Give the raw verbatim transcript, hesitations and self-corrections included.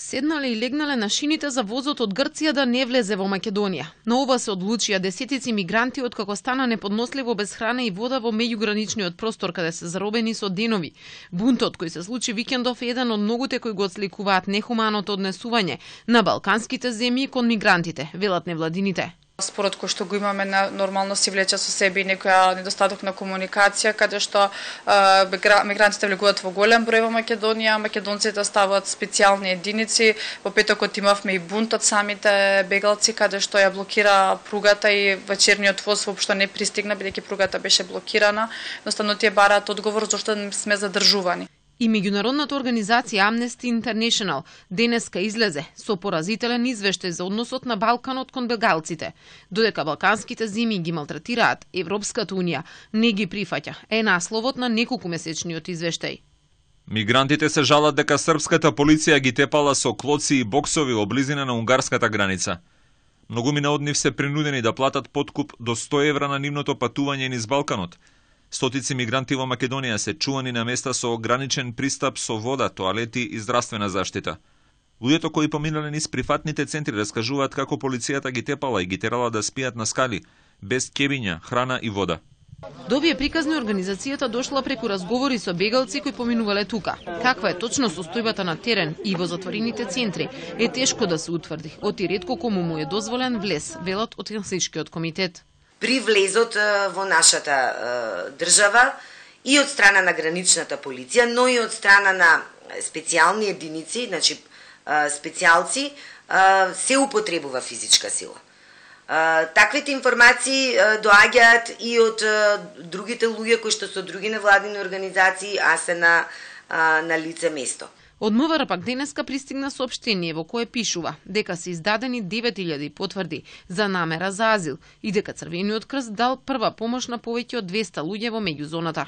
Седнале и легнале на шините за возот од Грција да не влезе во Македонија. На ова се одлучија десетици мигранти откако стана неподносливо без храна и вода во меѓуграничниот простор каде се заробени со денови. Бунтот кој се случи викендов е еден од многуте кои го отсликуваат нехуманото однесување на балканските земји кон мигрантите, велат невладините. Спорот кој што го имаме на нормално си влече со себе и некоја недостаток на комуникација, каде што е, мигрантите влегуваат во голем број во Македонија, македонците ставаат специјални единици. Во петокот имавме и бунт од самите бегалци, каде што ја блокира пругата и вечерниот воз воопшто не пристигна, бидејќи пругата беше блокирана. Едноставно тие бараат одговор зашто сме задржувани. И меѓународната организација Amnesty International денеска излезе со поразителен извештај за односот на Балканот кон бегалците. Додека балканските земји ги малтретираат, Европската унија не ги прифаќа, е насловот на неколкумесечниот извештај. Мигрантите се жалат дека српската полиција ги тепала со клоци и боксови во близина на унгарската граница. Многумина од нив се принудени да платат подкуп до сто евра на нивното патување низ Балканот. Стотици мигранти во Македонија се чувани на места со ограничен пристап со вода, тоалети и здравствена заштита. Луѓето кои поминале низ прифатните центри раскажуваат како полицијата ги тепала и ги терала да спијат на скали, без кебиња, храна и вода. До овие приказни организацијата дошла преку разговори со бегалци кои поминувале тука. Каква е точно состојбата на терен и во затворените центри е тешко да се утврди, оти ретко кому му е дозволен влез, велат од Хелсиншкиот комитет. При влезот во нашата држава и од страна на граничната полиција, но и од страна на специјални единици, значи специјалци, се употребува физичка сила. Таквите информации доаѓаат и од другите луѓе кои што се од други невладини организации, а се на, на лице место. Од МВР пак денеска пристигна соопштение во кое пишува дека се издадени девет илјади потврди за намера за азил и дека Црвениот крст дал прва помош на повеќе од двесте луѓе во меѓузоната.